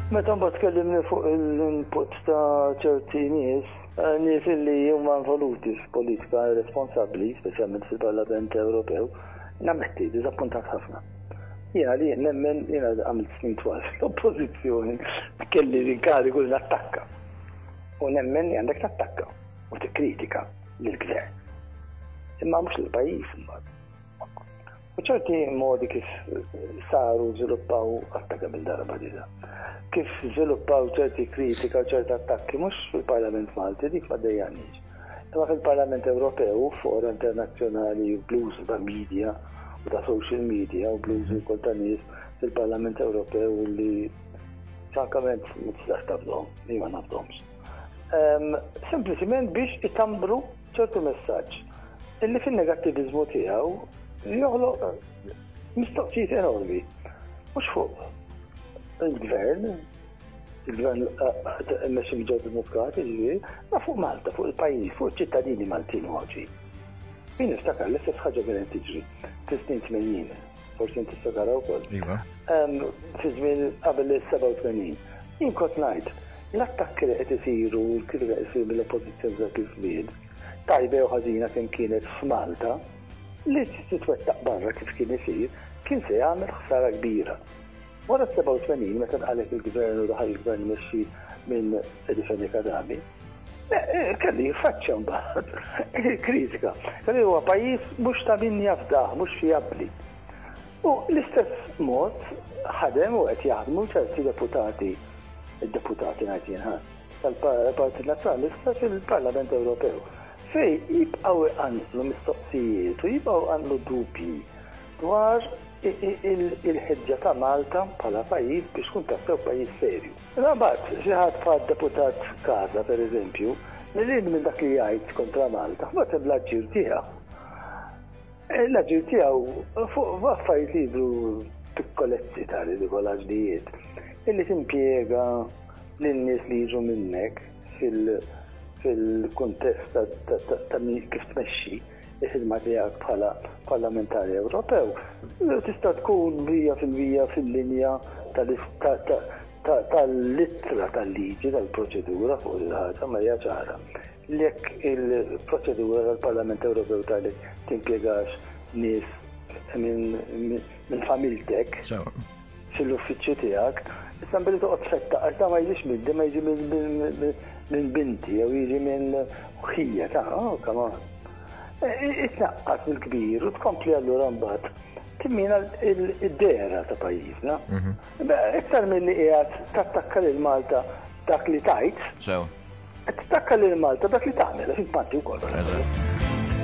Meta mbagħad tkellimni fuq l-input ta' ċerti nies, eh, nies li huma involuti f'politika irresponsabbli, speċjalment fil-Parlament Ewropew, nammetti, diżappuntat ħafna. Jiena li nemmen jiena għamilt snin twal fl-oppożizzjoni kelli l-inkarigu li nattakka. U nemmen li għandek tattakka u tikkritika lill-gvern. Imma mhux lill-pajjiż imbagħad. U ċerti modi kif saru żviluppaw għatta kemm il-darba diġà. Kif żviluppaw ċerti kritika u ċerti attakki mhux fil-Parlament Malti dik ma dejjanix. Imma fil-Parlament Ewropew, fora internazzjonali, bl-użu ta' media u ta' social media u bl-użu wkoll ta' nies fil-Parlament Ewropew li frankament ma tistax tafdhom, li ma nafdomx. Sempliċiment biex itambru ċertu messaġġ illi fin-negattiviżmu tiegħu joħloq mistoqsijiet enormi. Mhux fuq il-gvern, il-gvern mmexxi minn Joseph Muscat, jiġifieri, ma fuq Malta, fuq il-pajjiż, fuq iċ-ċittadini Maltin u Għawdxin. Jien niftakar l-istess ħaġa kienet tiġri fis-snin 80, forsi inti tiftakarha wkoll. Iva. Fi żmien qabel is-87. Jien kont ngħid, l-attakki li qed isiru, l-kritika qed isir mill-oppożizzjoni dak iż-żmien, tajba jew ħażina kemm kienet f'Malta, li titwettaq barra kif kien isir, kien se jagħmel ħsara kbira. Wara s-87 meta nqaleb il-gvern u daħal il-gvern mmexxi minn Eddie Fenech Adami, eh, eh, kelli jiffaċċja mbagħad il-kritika. Kelli huwa pajjiż mhux ta' min jafdah, mhux fijabbli. U l-istess mod ħadem u qed jaħdmu ċerti deputati, id-deputati ngħid jien tal-Partit Nazzjonalista fil-Parlament Ewropew, fejn jibqgħu iqanqlu mistoqsijiet u jibqgħu iqanqlu dubji dwar il-ħeġġa ta' Malta bħala pajjiż biex tkun tassew pajjiż serju. Imma mbagħad xi ħadd bħad-deputat Casa pereżempju, lil hinn minn dak li jgħid kontra Malta, mbagħad hemm l-aġir tiegħu. L-aġir tiegħu fuq affarijiet li jidhru pikkolezzi ta' ridikolaġnijiet illi timpjega lin-nies li jiġu minnek fil-kuntest ta' kif tmexxi il-ħidma tiegħek bħala parlamentari Ewropew, tista' tkun 100% fil-linja tal-ittra tal-liġi tal-proċedura fuq il-ħaġa ma hija ċara. Jekk il-proċedura tal-Parlament Ewropew tgħidlek timpjegax nies minn familtek fil-uffiċċju tiegħek, issa billi toqgħod tfettaq għax da ma jiġix minni, ma jiġi minn binti jew jiġi minn ħija ta' oh, come on. E, e, itnaqqas mill-kbir u tkompli allura mbagħad timmina id-dehra ta' pajjiżna. Mhm. Iktar milli qiegħed tattakka lil Malta dak li tajt. Sew. Qed tittakka lil Malta dak li tagħmel, għax int Malti wkoll. Eżatt.